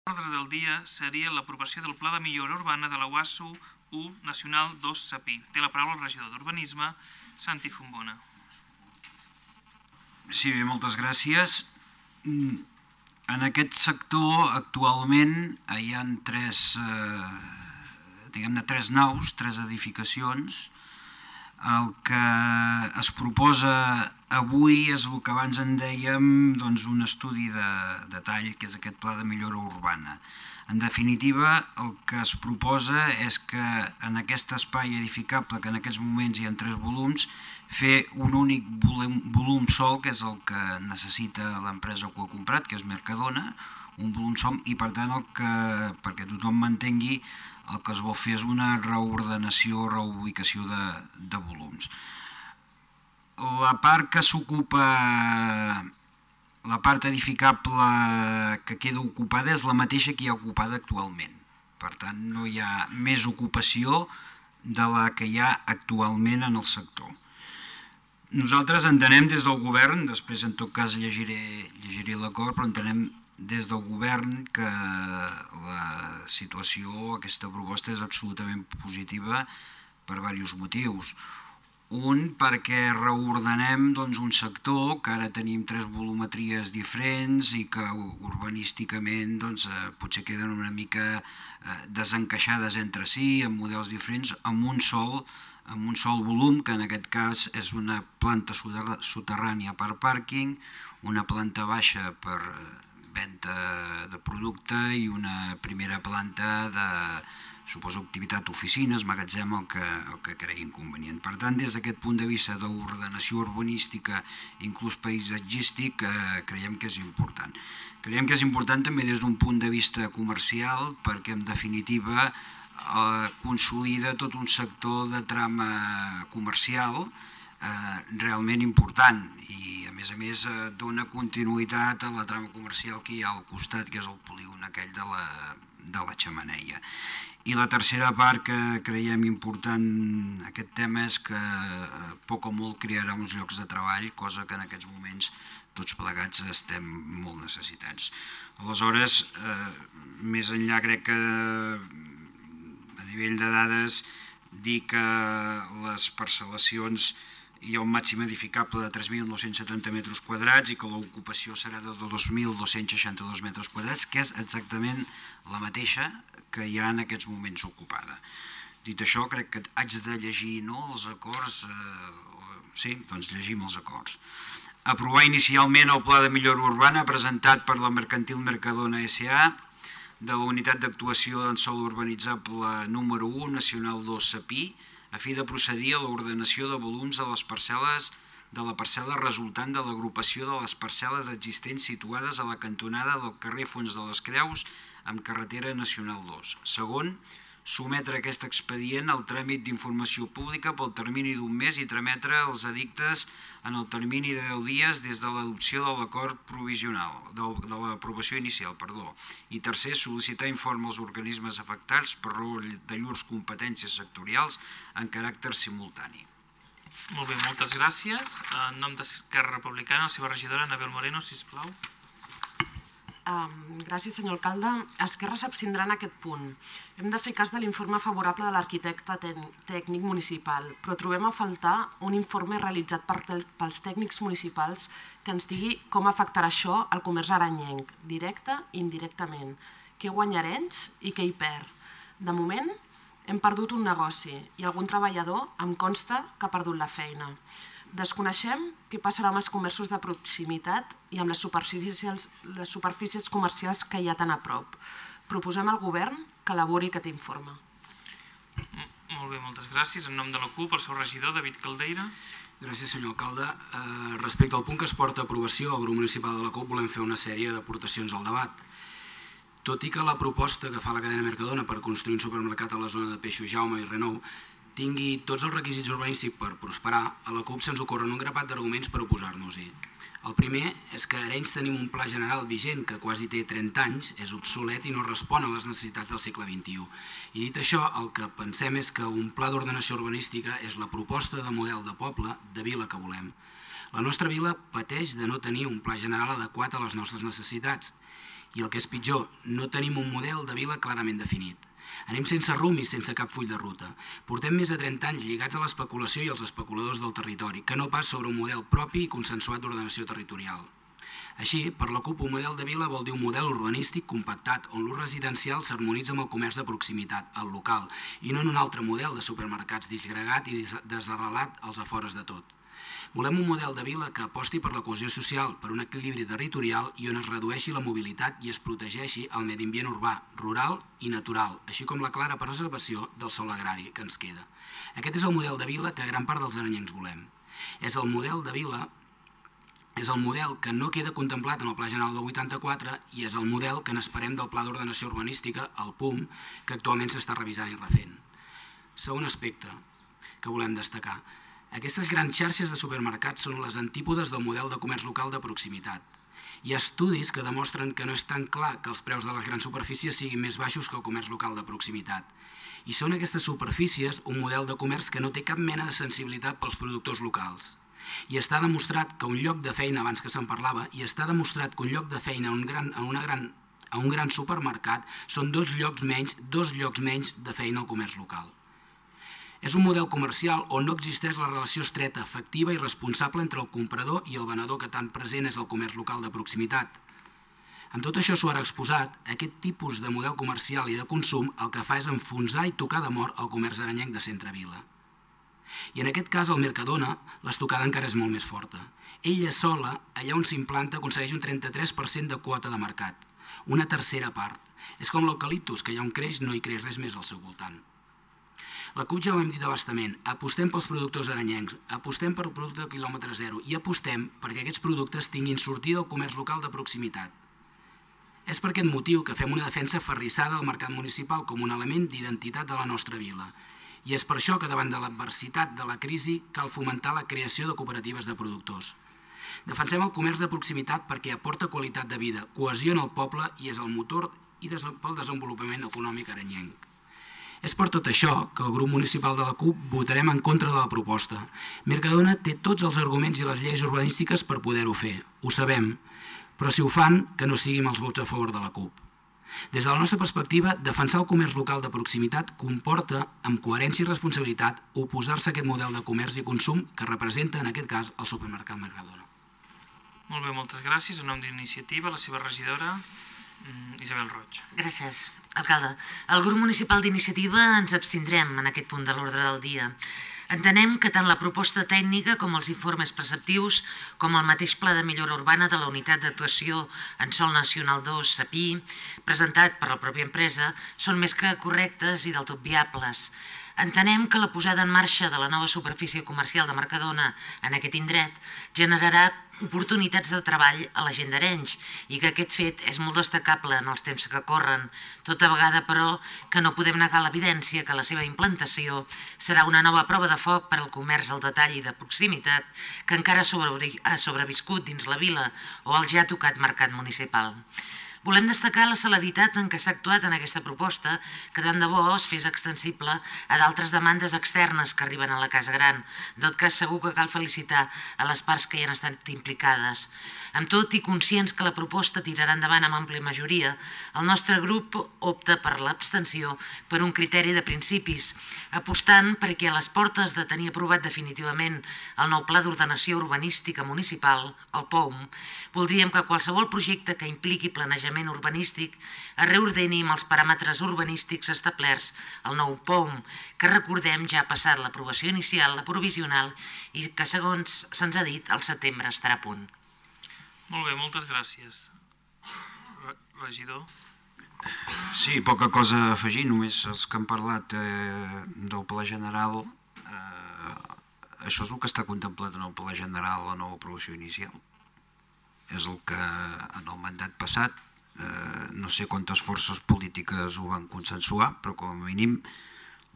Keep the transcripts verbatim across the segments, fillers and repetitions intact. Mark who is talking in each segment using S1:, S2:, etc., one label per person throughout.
S1: L'ordre del dia seria l'aprovació del Pla de Millora Urbana de la U A S U u Nacional dos Sapí. Té la paraula el regidor d'Urbanisme, Santi Fontbona.
S2: Sí, bé, moltes gràcies. En aquest sector actualment hi ha tres, eh, diguem-ne, tres naus, tres edificacions. El que es proposa avui és el que abans en dèiem, doncs, un estudi de detall, que és aquest pla de millora urbana. En definitiva, el que es proposa és que en aquest espai edificable, que en aquests moments hi ha tres volums, fer un únic volum, volum sol, que és el que necessita l'empresa que ho ha comprat, que és Mercadona, un volum sol, i per tant, el que, perquè tothom m'entengui, el que es vol fer és una reordenació, reubicació de, de volums. La part que s'ocupa, la part edificable que queda ocupada és la mateixa que hi ha ocupada actualment. Per tant, no hi ha més ocupació de la que hi ha actualment en el sector. Nosaltres entenem des del govern, després en tot cas llegiré, llegiré l'acord, però entenem des del govern que la situació, aquesta proposta és absolutament positiva per diversos motius. Un, perquè reordenem doncs, un sector que ara tenim tres volumetries diferents i que urbanísticament doncs, potser queden una mica desencaixades entre si, amb models diferents, amb un sol, amb un sol volum, que en aquest cas és una planta soterrània per pàrquing, una planta baixa per venda de producte i una primera planta de, suposo, activitat oficines, magatzem, el que, el que cregui inconvenient. Per tant, des d'aquest punt de vista d'ordenació urbanística, inclús paisatgístic, eh, creiem que és important. Creiem que és important també des d'un punt de vista comercial, perquè en definitiva eh, consolida tot un sector de trama comercial eh, realment important i a més a més eh, dona continuïtat a la trama comercial que hi ha al costat, que és el polígon aquell de la, de la Xemeneia. I la tercera part que creiem important en aquest tema és que eh, poc o molt crearà uns llocs de treball, cosa que en aquests moments tots plegats estem molt necessitats. Aleshores, eh, més enllà crec que a nivell de dades dir que les parcel·lacions hi ha un màxim edificable de tres mil nou-cents setanta metres quadrats i que l'ocupació serà de dos mil dos-cents seixanta-dos metres quadrats, que és exactament la mateixa que hi ha en aquests moments ocupada. Dit això, crec que haig de llegir no, els acords, eh, sí, doncs llegim els acords. Aprovar inicialment el Pla de Millora Urbana presentat per la Mercantil Mercadona S A de la Unitat d'Actuació en Sòl Urbanitzable número u, Nacional dos Sapí, a fi de procedir a l'ordenació de volums de les parcel·les de la parcel·la resultant de l'agrupació de les parcel·les existents situades a la cantonada del carrer Fons de les Creus amb carretera Nacional dos. Segon, sometre aquest expedient al tràmit d'informació pública pel termini d'un mes i trametre els edictes en el termini de deu dies des de l'adopció de l'acord provisional, de l'aprovació inicial, perdó. I tercer, sol·licitar informe als organismes afectats per raó de llurs competències sectorials en caràcter simultani.
S1: Molt bé, moltes gràcies. En nom d'Esquerra Republicana, la seva regidora, Anabel Moreno, sisplau.
S3: Gràcies, senyor alcalde. Esquerra s'abstindrà en aquest punt. Hem de fer cas de l'informe favorable de l'arquitecte tècnic municipal, però trobem a faltar un informe realitzat pels tècnics municipals que ens digui com afectarà això al comerç aranyenc, directe i indirectament, què guanyarà ells i què hi perd. De moment, hem perdut un negoci i algun treballador em consta que ha perdut la feina. Desconeixem què passarà amb els comerços de proximitat i amb les superfícies comercials que hi ha tan a prop. Proposem al govern que elabori aquest informe.
S1: Molt bé, moltes gràcies. En nom de la CUP, el seu regidor, David Caldeira.
S4: Gràcies, senyor alcalde. Respecte al punt que es porta a aprovació, el grup municipal de la CUP volem fer una sèrie d'aportacions al debat. Tot i que la proposta que fa la cadena Mercadona per construir un supermercat a la zona de Peixos Jaume i Renou tingui tots els requisits urbanístics per prosperar, a la CUP se'ns ocorren un grapat d'arguments per oposar-nos-hi. El primer és que a Arenys tenim un pla general vigent que quasi té trenta anys, és obsolet i no respon a les necessitats del segle vint-i-u. I dit això, el que pensem és que un pla d'ordenació urbanística és la proposta de model de poble, de vila que volem. La nostra vila pateix de no tenir un pla general adequat a les nostres necessitats I el que és pitjor, no tenim un model de vila clarament definit. Anem sense rumb i sense cap full de ruta. Portem més de trenta anys lligats a l'especulació i als especuladors del territori, que no pas sobre un model propi i consensuat d'ordenació territorial. Així, per la CUP, un model de vila vol dir un model urbanístic compactat on l'ús residencial s'harmonitza amb el comerç de proximitat, el local, i no en un altre model de supermercats disgregat i desarrelat als afores de tot. Volem un model de vila que aposti per la cohesió social, per un equilibri territorial i on es redueixi la mobilitat i es protegeixi el medi ambient urbà, rural i natural, així com la clara preservació del sòl agrari que ens queda. Aquest és el model de vila que gran part dels arenyencs volem. És el model de vila És el model que no queda contemplat en el Pla General del vuitanta-quatre i és el model que n'esperem del Pla d'Ordenació Urbanística, el P U M, que actualment s'està revisant i refent. Segon aspecte que volem destacar. Aquestes grans xarxes de supermercats són les antípodes del model de comerç local de proximitat. Hi ha estudis que demostren que no és tan clar que els preus de les grans superfícies siguin més baixos que el comerç local de proximitat. I són aquestes superfícies un model de comerç que no té cap mena de sensibilitat pels productors locals. I està demostrat que un lloc de feina, abans que se'n parlava, i està demostrat que un lloc de feina a un gran, a una gran, a un gran supermercat són dos llocs menys, dos llocs menys de feina al comerç local. És un model comercial on no existeix la relació estreta, efectiva i responsable entre el comprador i el venedor que tan present és el comerç local de proximitat. Amb tot això s'ho ha exposat, aquest tipus de model comercial i de consum el que fa és enfonsar i tocar de mort el comerç arenyenc de centre-vila. I en aquest cas, el Mercadona, l'estocada encara és molt més forta. Ella sola, allà on s'implanta, aconsegueix un trenta-tres per cent de quota de mercat, una tercera part. És com l'eucaliptus, que allà on creix no hi creix res més al seu voltant. La CUP ja ho hem dit abastament, apostem pels productors arenyencs, apostem per el producte de quilòmetre zero i apostem perquè aquests productes tinguin sortida al comerç local de proximitat. És per aquest motiu que fem una defensa aferrissada al mercat municipal com un element d'identitat de la nostra vila. I és per això que davant de l'adversitat de la crisi cal fomentar la creació de cooperatives de productors. Defensem el comerç de proximitat perquè aporta qualitat de vida, cohesiona el poble i és el motor pel desenvolupament econòmic arenyenc. És per tot això que el grup municipal de la CUP votarem en contra de la proposta. Mercadona té tots els arguments i les lleis urbanístiques per poder-ho fer, ho sabem, però si ho fan, que no siguin els vots a favor de la CUP. Des de la nostra perspectiva, defensar el comerç local de proximitat comporta, amb coherència i responsabilitat, oposar-se a aquest model de comerç i consum que representa, en aquest cas, el supermercat Mercadona.
S1: Molt bé, moltes gràcies. En nom d'Iniciativa, la seva regidora, Isabel Roig.
S5: Gràcies, alcalde. El grup municipal d'Iniciativa ens abstindrem en aquest punt de l'ordre del dia. Entenem que tant la proposta tècnica com els informes preceptius, com el mateix Pla de Millora Urbana de la Unitat d'Actuació en Sòl Nacional dos, S A P I, presentat per la pròpia empresa, són més que correctes i del tot viables. Entenem que la posada en marxa de la nova superfície comercial de Mercadona en aquest indret generarà oportunitats de treball a la gent d'Arenys i que aquest fet és molt destacable en els temps que corren, tota vegada però que no podem negar l'evidència que la seva implantació serà una nova prova de foc per al comerç al detall i de proximitat que encara ha sobreviscut dins la vila o al ja tocat mercat municipal. Volem destacar la celeritat en què s'ha actuat en aquesta proposta, que tant de bo es fes extensible a d'altres demandes externes que arriben a la Casa Gran. En tot cas, segur que cal felicitar a les parts que hi han estat implicades. Amb tot i conscients que la proposta tirarà endavant amb àmplia majoria, el nostre grup opta per l'abstenció per un criteri de principis, apostant perquè a les portes de tenir aprovat definitivament el nou Pla d'Ordenació Urbanística Municipal, el P O U M, voldríem que qualsevol projecte que impliqui planejament urbanístic es reordeni amb els paràmetres urbanístics establerts al nou P O U M, que recordem ja ha passat l'aprovació inicial, la provisional, i que segons se'ns ha dit, al setembre estarà a punt.
S1: Molt bé, moltes gràcies. Regidor?
S2: Sí, poca cosa a afegir, només els que han parlat del Pla General, això és el que està contemplat en el Pla General, la nova aprovació inicial. És el que en el mandat passat, no sé quantes forces polítiques ho van consensuar, però com a mínim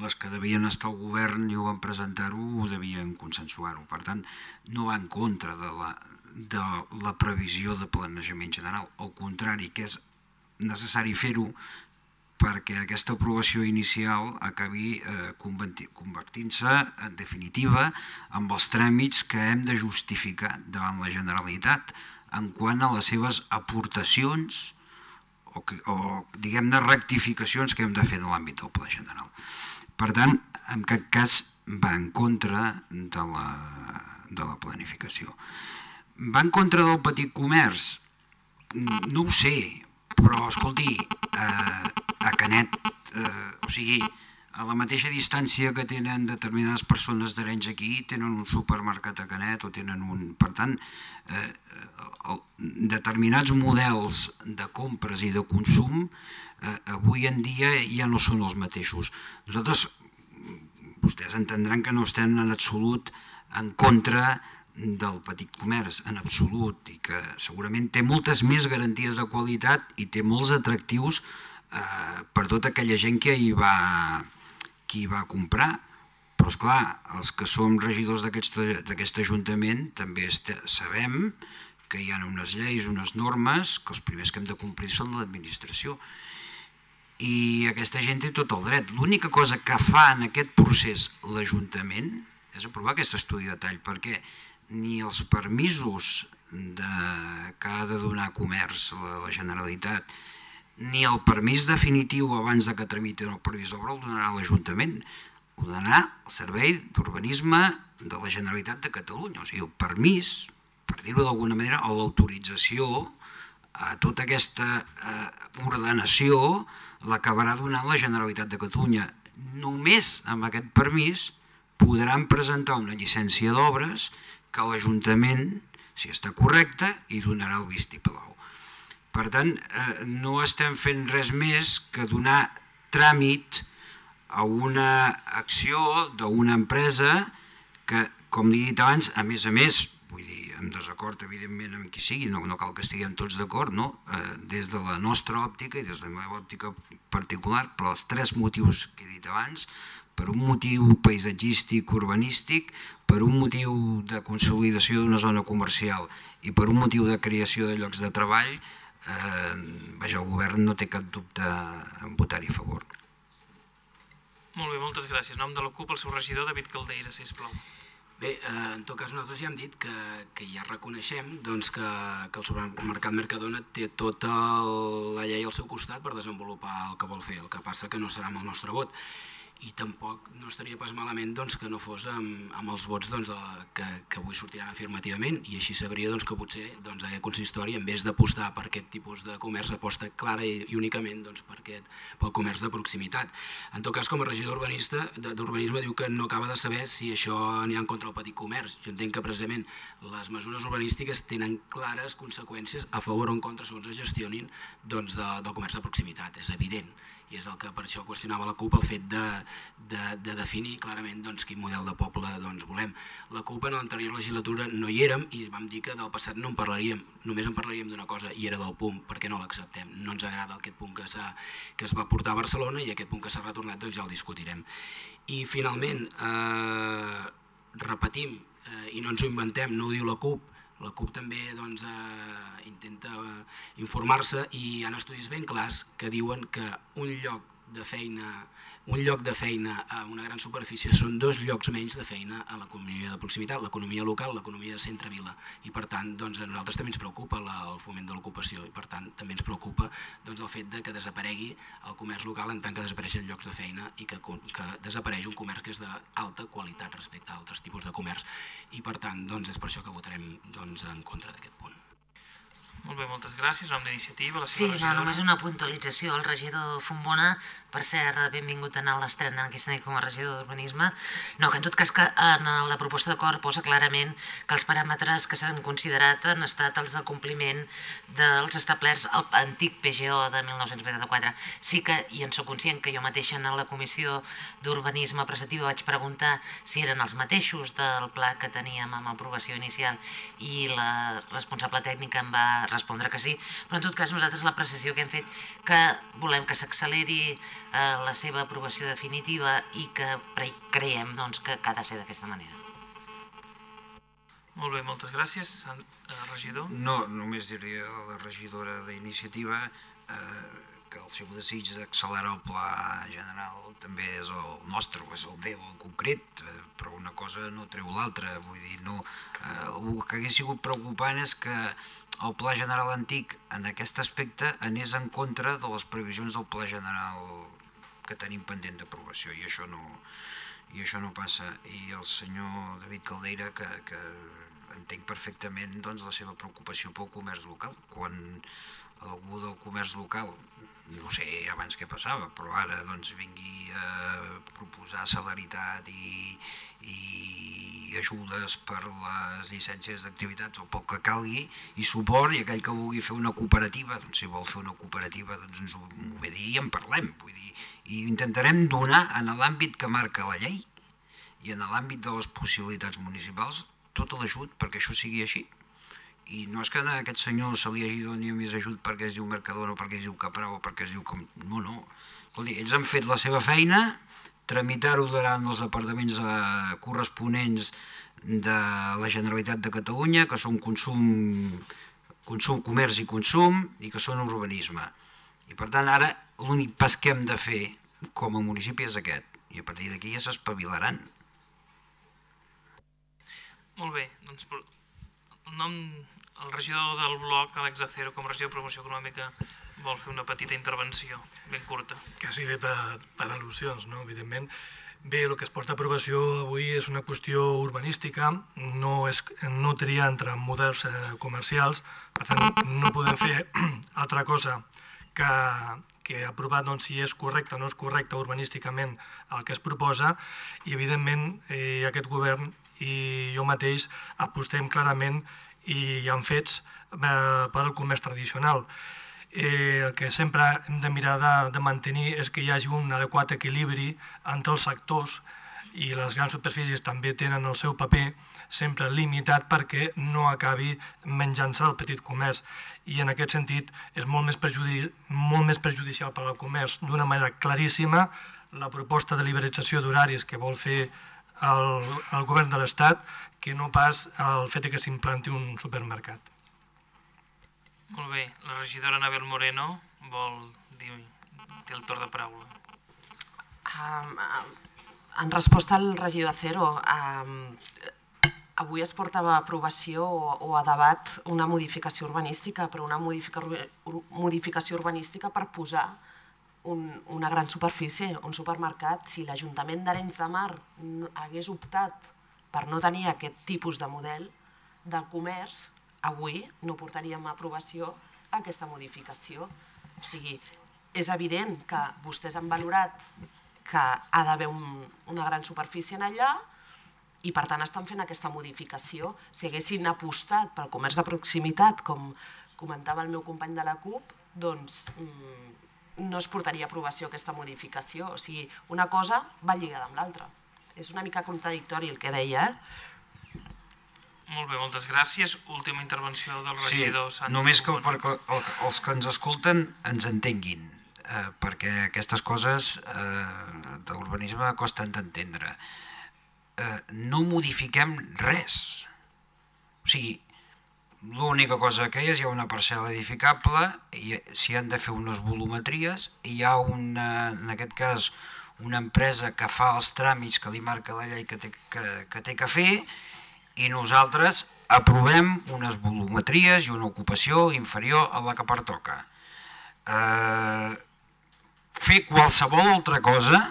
S2: les que devien estar al govern i ho van presentar-ho, ho devien consensuar-ho. Per tant, no va en contra de la de la previsió de planejament general. Al contrari, que és necessari fer-ho perquè aquesta aprovació inicial acabi convertint-se, en definitiva, amb els tràmits que hem de justificar davant la Generalitat en quant a les seves aportacions o, o diguem-ne rectificacions que hem de fer en l'àmbit del Pla General. Per tant, en cap cas va en contra de la, de la planificació. Va en contra del petit comerç? No ho sé, però escolti, a Canet, o sigui, a la mateixa distància que tenen determinades persones d'Arenys aquí, tenen un supermercat a Canet o tenen un... Per tant, determinats models de compres i de consum avui en dia ja no són els mateixos. Nosaltres, vostès entendran que no estem en absolut en contra del petit comerç, en absolut, i que segurament té moltes més garanties de qualitat i té molts atractius per tota aquella gent que hi va, que hi va comprar. Però, esclar, els que som regidors d'aquest Ajuntament també sabem que hi ha unes lleis, unes normes, que els primers que hem de complir són l'administració. I aquesta gent té tot el dret. L'única cosa que fa en aquest procés l'Ajuntament és aprovar aquest estudi de detall, perquè ni els permisos que ha de donar comerç la Generalitat, ni el permís definitiu abans que tramiti el permís d'obra el donarà l'Ajuntament, ho donarà el Servei d'Urbanisme de la Generalitat de Catalunya. O sigui, el permís, per dir-ho d'alguna manera, o l'autorització a tota aquesta ordenació l'acabarà donant la Generalitat de Catalunya. Només amb aquest permís podran presentar una llicència d'obres que l'Ajuntament, si està correcte, hi donarà el vistiplau. Per tant, no estem fent res més que donar tràmit a una acció d'una empresa que, com li he dit abans, a més a més, vull dir, en desacord evidentment amb qui sigui, no cal que estiguem tots d'acord, des de la nostra òptica i des de la meva òptica particular, però els tres motius que he dit abans, per un motiu paisatgístic, urbanístic, per un motiu de consolidació d'una zona comercial i per un motiu de creació de llocs de treball, el govern no té cap dubte en votar-hi a favor.
S1: Molt bé, moltes gràcies. En nom de la CUP, el seu regidor, David Caldeira, sisplau.
S4: Bé, en tot cas nosaltres ja hem dit que ja reconeixem que el supermercat Mercadona té tota la llei al seu costat per desenvolupar el que vol fer, el que passa que no serà amb el nostre vot. I tampoc no estaria pas malament que no fos amb els vots que avui sortiran afirmativament, i així sabria que potser aquest consistori, en vez d'apostar per aquest tipus de comerç, aposta clara i únicament pel comerç de proximitat. En tot cas, com a regidor d'Urbanisme diu que no acaba de saber si això anirà en contra del petit comerç. Jo entenc que precisament les mesures urbanístiques tenen clares conseqüències a favor o en contra segons es gestionin del comerç de proximitat, és evident. I és el que per això qüestionava la CUP, el fet de definir clarament quin model de poble volem. La CUP en l'anterior legislatura no hi érem i vam dir que del passat no en parlaríem, només en parlaríem d'una cosa, i era del punt, perquè no l'acceptem. No ens agrada aquest punt que es va portar a Barcelona i aquest punt que s'ha retornat ja el discutirem. I finalment, repetim, i no ens ho inventem, no ho diu la CUP, la CUP també intenta informar-se i hi ha estudis ben clars que diuen que un lloc de feina un lloc de feina a una gran superfície són dos llocs menys de feina a l'economia de proximitat, l'economia local, l'economia de centre-vila. I per tant, a nosaltres també ens preocupa el foment de l'ocupació i per tant també ens preocupa el fet que desaparegui el comerç local en tant que desapareixen llocs de feina i que desapareix un comerç que és d'alta qualitat respecte a altres tipus de comerç. I per tant, és per això que votarem en contra d'aquest punt.
S1: Molt bé, moltes gràcies. En nom d'Iniciativa, la
S5: seva
S1: regidora. Sí,
S5: només una puntualització. El regidor Fontbona, per cert, benvingut a l'estrena d'aquesta nit com a regidor d'Urbanisme. No, que en tot cas que en la proposta d'acord posa clarament que els paràmetres que s'han considerat han estat els de compliment dels establerts al antic P G O de mil nou-cents vuitanta-quatre. Sí que, i en soc conscient, que jo mateixa en la Comissió d'Urbanisme Preceptiva vaig preguntar si eren els mateixos del pla que teníem amb aprovació inicial i la responsable tècnica em va respondre que sí, però en tot cas nosaltres l'apreciació que hem fet que volem que s'acceleri la seva aprovació definitiva i que creiem que ha de ser d'aquesta manera.
S1: Molt bé, moltes gràcies. Regidor?
S2: No, només diria a la regidora d'Iniciativa que el seu desig d'accelerar el pla general també és el nostre, o és el meu en concret, però una cosa no treu l'altra. Vull dir, el que hagués sigut preocupant és que el Pla General antic en aquest aspecte anés en contra de les previsions del Pla General que tenim pendent d'aprovació, i això no i això no passa. I el senyor David Caldeira, que, que entenc perfectament doncs, la seva preocupació pel comerç local, quan algú del comerç local, no sé abans què passava, però ara doncs, vingui a proposar celeritat i, i ajudes per les llicències d'activitats o pel que calgui, i suport, i aquell que vulgui fer una cooperativa, doncs si vol fer una cooperativa doncs ens ho, ho ve dir i en parlem, vull dir, i intentarem donar en l'àmbit que marca la llei i en l'àmbit de les possibilitats municipals tot l'ajut perquè això sigui així. I no és que a aquest senyor se li hagi donat més ajut perquè es diu Mercadona o perquè es diu Caprau o perquè es diu... Com... No, no. Escolti, ells han fet la seva feina, tramitar-ho davant els departaments eh, corresponents de la Generalitat de Catalunya, que són consum, consum, comerç i consum, i que són urbanisme. I per tant, ara l'únic pas que hem de fer com a municipi és aquest, i a partir d'aquí ja s'espavilaran.
S1: Molt bé, doncs el nom, el regidor del bloc, Àlex Acero, com a regidor de promoció econòmica, vol fer una petita intervenció, ben curta.
S6: Quasi bé per, per al·lusions, no? Evidentment. Bé, el que es porta a aprovació avui és una qüestió urbanística, no, és, no tria entre models eh, comercials, per tant no podem fer altra cosa que, que aprovar doncs, si és correcte o no és correcte urbanísticament el que es proposa, i evidentment eh, aquest govern i jo mateix apostem clarament i amb fets eh, per al comerç tradicional. Eh, el que sempre hem de mirar de, de mantenir és que hi hagi un adequat equilibri entre els sectors, i les grans superfícies també tenen el seu paper sempre limitat perquè no acabi menjant-se el petit comerç, i en aquest sentit és molt més, perjudi molt més perjudicial per al comerç d'una manera claríssima la proposta de liberalització d'horaris que vol fer el, el govern de l'Estat que no pas el fet que s'implanti un supermercat.
S1: Molt bé, la regidora Anabel Moreno vol dir, té el torn de paraula.
S3: Um, en resposta al regidor Acero, um, avui es porta a aprovació o, o a debat una modificació urbanística, però una modifica, modificació urbanística per posar un, una gran superfície, un supermercat. Si l'Ajuntament d'Arenys de Mar hagués optat per no tenir aquest tipus de model de comerç, avui no portaríem a aprovació aquesta modificació. O sigui, és evident que vostès han valorat que ha d'haver un, una gran superfície en allà i per tant estan fent aquesta modificació. Si haguessin apostat pel comerç de proximitat, com comentava el meu company de la CUP, doncs no es portaria a aprovació aquesta modificació. O sigui, una cosa va lligada amb l'altra. És una mica contradictori el que deia, eh?
S1: Molt bé, moltes gràcies. Última intervenció del regidor
S2: sí,
S1: Santi.
S2: Només que perquè els que ens escolten ens entenguin, eh, perquè aquestes coses eh, d'urbanisme costen d'entendre. Eh, no modifiquem res. O sigui, l'única cosa que hi és, hi ha una parcel·la edificable, i s'hi han de fer unes volumetries, i hi ha una, en aquest cas, una empresa que fa els tràmits que li marca la llei que té que, que, té que fer, i nosaltres aprovem unes volumetries i una ocupació inferior a la que pertoca. Eh, fer qualsevol altra cosa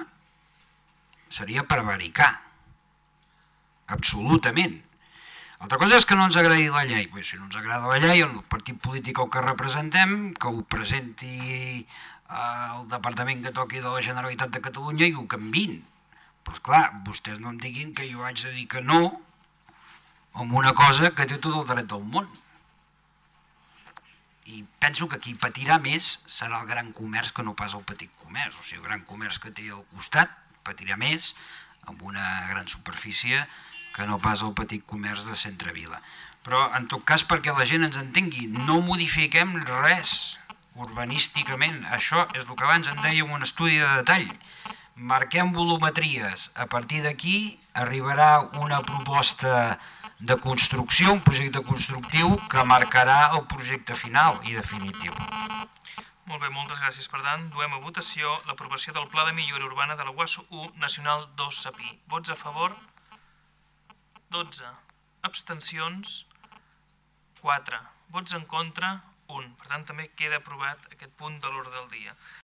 S2: seria prevaricar, absolutament. Altra cosa és que no ens agradi la llei. Bé, si no ens agrada la llei, el partit polític que representem, que ho presenti al departament que toqui de la Generalitat de Catalunya i ho canviïn. Però esclar, vostès no em diguin que jo haig de dir que no amb una cosa que té tot el dret del món. I penso que qui patirà més serà el gran comerç que no pas el petit comerç. O sigui, el gran comerç que té al costat patirà més amb una gran superfície que no pas el petit comerç de centre-vila. Però, en tot cas, perquè la gent ens entengui, no modifiquem res urbanísticament. Això és el que abans en dèiem un estudi de detall. Marquem volumetries. A partir d'aquí arribarà una proposta de construcció, un projecte constructiu que marcarà el projecte final i definitiu.
S1: Molt bé, moltes gràcies. Per tant, duem a votació l'aprovació del Pla de Millora Urbana de la U A S u Nacional dos Sapí. Vots a favor? dotze. Abstencions? quatre. Vots en contra, un. Per tant, també queda aprovat aquest punt de l'ordre del dia.